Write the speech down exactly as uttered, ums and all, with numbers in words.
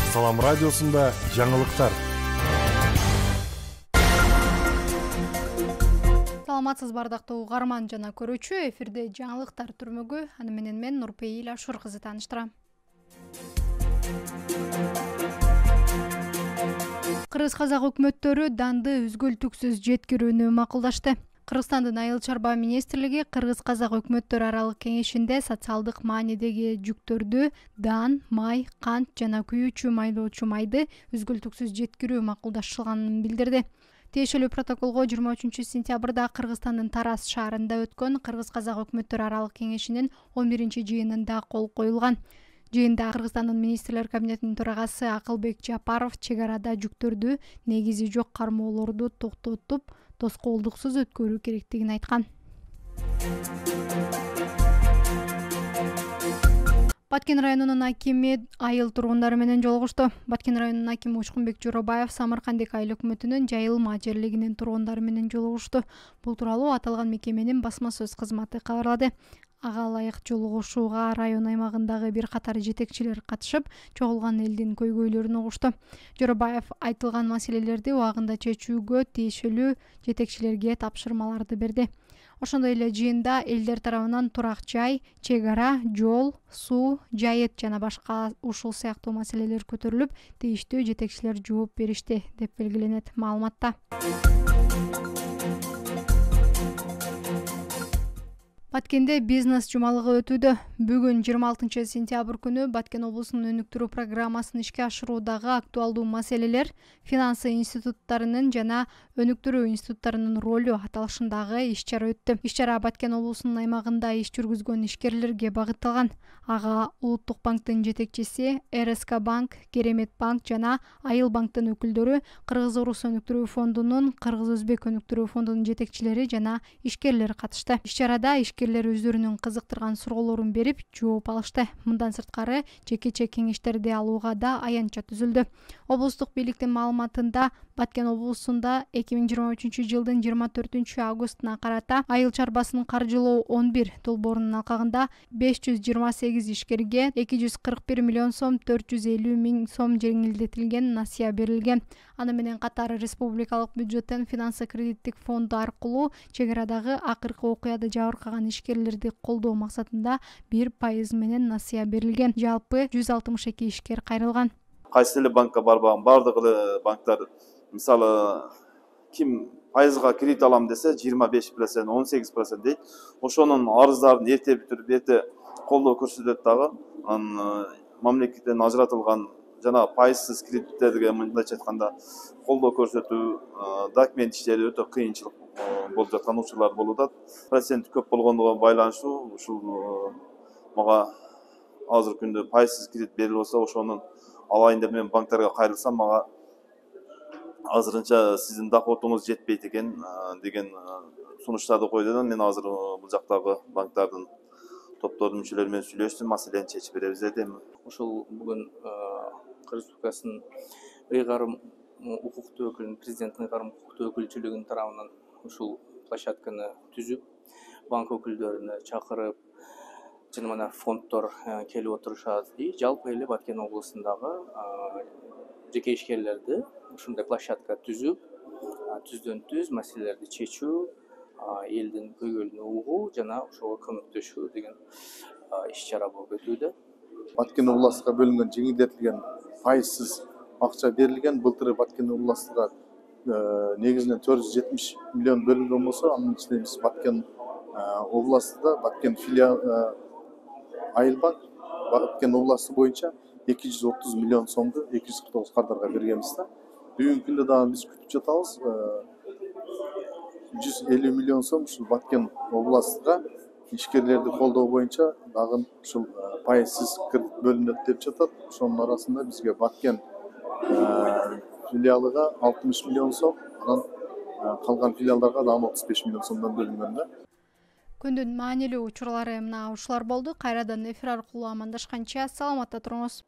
Салам радиосунда жаңылыктар. Саламатсыз бардактуу угарман жана көрүүчү, эфирде жаңылыктар түрмөгү. Аны менен мен Нурпейил Ашур кызы тааныштырам. Кыргыз-казак өкмөттөрү данды үзгүлтүксүз жеткирүүнү макулдашты. Кыргызстандын Айыл чарба министрлиги Кыргыз-казак өкмөттөр аралык кеңешинде социалдык маанидеги жүктөрдү дан, май, кант жана күйүүчү майлоочу майды үзгүлтүксүз жеткирүү макулдашылганын билдирди. Тиешелүү протоколго жыйырма үчүнчү сентябрда Кыргызстандын Тараз шаарында өткөн Кыргыз-казак өкмөттөр аралык кеңешинин он биринчи жыйынында кол коюлган. Жыйында Кыргызстандын министрлер кабинетинин төрагасы Акылбек Жапаров чек арада жүктөрдү негизи жок кармоолорду токтотуп, тоскоолдуксуз өткөрүү керектигин айткан. Баткен районунун акими айыл тургундары менен жолугушту. Баткен районунун акими Учкунбек Жоробаев Самаркандек айыл өкмөтүнүн Жайылма жерлигинин тургундары менен жолугушту. Бул тууралуу аталган мекеменин басма сөз кызматы кабарлады. Ага ылайык жолугушууга район аймагындагы бир катар жетекчилер катышып, чогулган элдин көйгөйлөрүн угушту. Жоробаев айтылган маселелерди убагында чечүүгө тиешелүү жетекчилерге тапшырмаларды берди. Ошондой эле жыйында элдер тарабынан турак жай, чек ара, жол, суу, жайыт жана башка ушул сыяктуу маселелер көтөрүлүп, тийиштүү жетекчилер жооп беришти, деп белгиленет маалыматта. Баткенде бизнес жумалыгы өтүүдө. Бүгүн жыйырма алтынчы сентябрь күнү Баткен облусунун өнүктүрүү программасын ишке ашыруудагы актуалдуу маселелер, финансы институттарынын жана өнүктүрүү институттарынын ролу аталышындагы иш-чара өттү. Иш-чара Баткен облусунун аймагында иш жүргүзгөн ишкерлерге багытталган. Ага Улуттук банктын жетекчиси, эр эс ка банк, Керемет банк жана Айыл банктын өкүлдөрү, Кыргыз-Орус өнүктүрүү фондунун, Кыргыз-Өзбек өнүктүрүү фондунун жетекчилери жана ишкерлер катышты. Иш-чарада ишкерлер өздөрүнүн кызыктырган суроолорун берип, жооп алышты. Мындан сырткары жекече кеңештерди алууга да аянтча түзүлдү. Облустук бийликтин маалыматында Баткен облусунда эки миң жыйырма үчүнчү жылдын жыйырма төртүнчү августуна карата айыл чарбасын каржылоо он бир долбоорунун алкагында беш жүз жыйырма сегиз ишкерге эки жүз кырк бир миллион сом төрт жүз элүү миң сом жеңилдетилген насыя берилген. Аны менен катары республикалык бюджеттен финансы кредиттик фонду аркылуу чек арадагы акыркы окуяда жабыркаган ишкерлерди колдоо максатында бир пайыз менен насыя берилген. Жалпы жүз алтымыш эки ишкер кайрылган. Кайсы эле банкка барбаган бардык эле банктар, мисалы, ким пайызга кредит алам десе жыйырма беш процент, он сегиз процент дейт. Ошонун арыздарын эрте бүтүрүп, эрте колдоо көрсөтөт дагы. Анан мамлекеттен ажыратылган жана пайызсыз кредиттерге мындайча айтканда колдоо көрсөтүү, документ иштери өтө кыйынчылык болуп жаткан учурлар болуп атат. Процент көп болгондугу байланыштуу ушул мага азыркы күндө пайызсыз кредит берилип болсо, ошонун алайын деп мен банктарга кайрылсам, мага азырынча сиздин доходуңуз жетпейт экен деген сунуштарды койду да. Мен азыр бул жактагы банктардын топтордун мүчөлөрү менен сүйлөштүм, маселени чечип беребиз дедим. Ушул бүгүн Кыргыз Республикасынын ыйгарым укуктуу өкүлүнүн, президенттин ыйгарым укуктуу өкүлчүлүгүнүн тарабынан ушул площадканы түзүп, банк өкүлдөрүнө чакырып, жана мына фонддор келип отурушат. Жалпы эле Баткен облусундагы жеке ишкерлерди ушундай площадка түзүп, түздөн түз маселелерди чечүү, элдин көйгөйлөрүн угуу жана ошого көмөктөшүү деген иш-чара болуп өтүүдө. Баткен областыга бөлүнгөн жеңилдетилген пайызсыз акча берилген. Былтыр Баткен областыга негизинен төрт жүз жетимиш миллион бөлүнгөн болсо, анын ичинде биз Баткен областыда Баткен филиал Айыл банк Баткен областы боюнча эки жүз отуз миллион сомду эки жүз кырк тогуз кардарга бергенбиз да. Бүгүнкү күндө дагы биз күтүп жатабыз. жүз элүү миллион сом ушул Баткен областыга ишкерлерди колдоо боюнча дагы ушул пайызсыз кредит бөлүнөт деп жатат. Ошонун арасында бизге Баткен филиалыга алтымыш миллион сом, анан калган филиалдарга дагы отуз беш миллион сомдон бөлүнгөн да. Күндүн маанилүү учурлары мына ушулар болду. Кайрадан эфир аркылуу амандашканча саламатта туруңуз.